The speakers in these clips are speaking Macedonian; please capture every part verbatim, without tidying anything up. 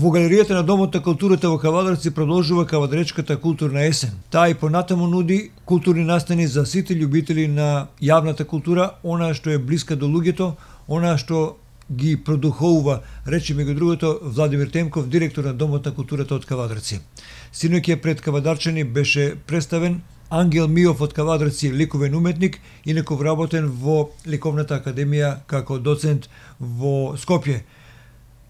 Во галеријата на Домот на културата во Кавадарци продолжува Кавадаречката културна есен. Таа и понатаму нуди културни настани за сите љубители на јавната култура, она што е блиска до луѓето, она што ги продуховува, рече меѓу другото Владимир Темков, директор на Домот на културата од Кавадарци. Синоќа пред кавадарчани беше представен Ангел Миов од Кавадарци, ликовен уметник, инаку вработен во Ликовната академија како доцент во Скопје.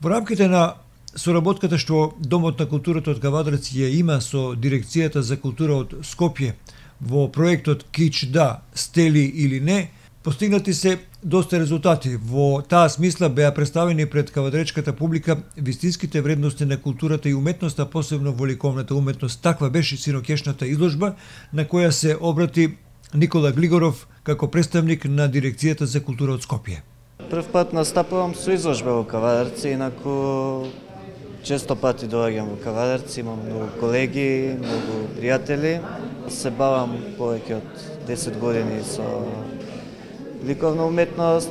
Во рамките на соработката што Домот на културата од Кавадарци ја има со Дирекцијата за култура од Скопје во проектот Кич да, стели или не, постигнати се доста резултати. Во таа смисла беа представени пред кавадаречката публика вистинските вредности на културата и уметноста, посебно во ликовната уметност. Таква беше синокешната изложба на која се обрати Никола Глигоров како представник на Дирекцијата за култура од Скопје. Прв пат настапувам со изложба во Кавадарци, инаку често пати доаѓам во Кавадарци, имам многу колеги, многу пријатели. Се бавам повеќе од десет години со ликовна уметност,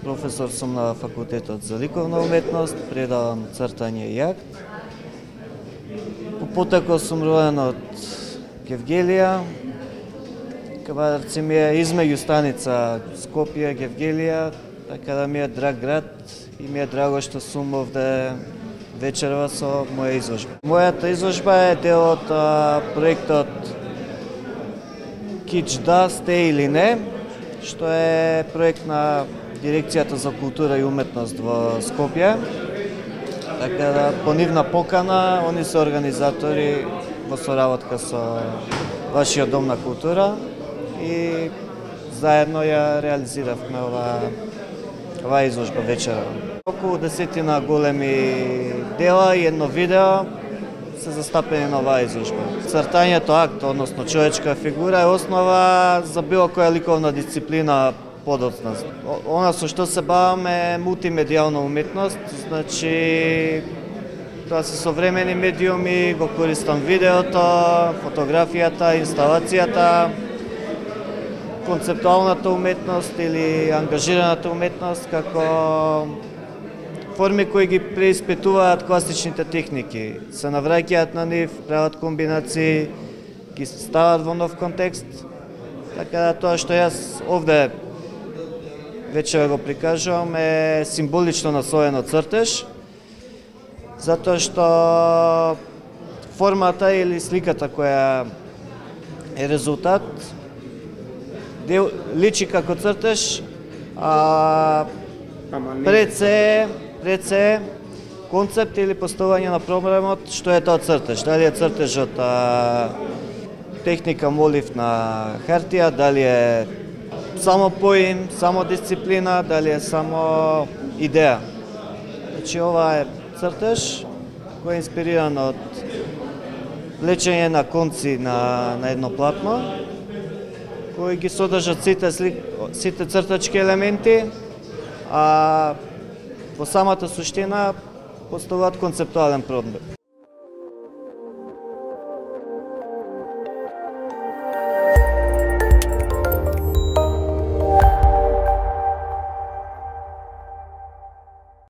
професор сум на факултетот за ликовна уметност, предавам цртање и акт. По потекло сум роден од Гевгелија. Кавадарци ми е измеѓу станица Скопје, Гевгелија, така да ми е драг град и ми е драго што сум овде вечерва со моја изложба. Мојата изложба е дел од а, проектот Кич да, сте или не, што е проект на Дирекцијата за култура и уметност во Скопје. Така да по нивна покана, они се организатори во соработка со вашиот Дом на култура и заедно ја реализиравме ова, ова изложба вечера. Околу десетина големи дела и едно видео се застапени на оваа изложба. Цртањето акт, односно човечка фигура, е основа за било која ликовна дисциплина подоцна. Она со што се баваме е мултимедијална уметност, значи тоа се современи медиуми, го користам видеото, фотографијата, инсталацијата, концептуалната уметност или ангажираната уметност како форми кои ги преиспитуваат класичните техники, се навраќаат на нив, прават комбинации, ги стават во нов контекст. Така да тоа што јас овде вечера го прикажувам е символично наслоено цртеж, затоа што формата или сликата која е резултат дел, личи како цртеж, а пред се пред се концепт или поставање на проблемот што е тоа цртеж. Дали е цртежот а, техника молив на хартија, дали е само поим, само дисциплина, дали е само идеја. Значи ова е цртеж кој е инспириран од влечење на конци на, на едно платно, кои ги содржат сите, сите цртачки елементи, а во самата суштина поставуваат концептуален проблем.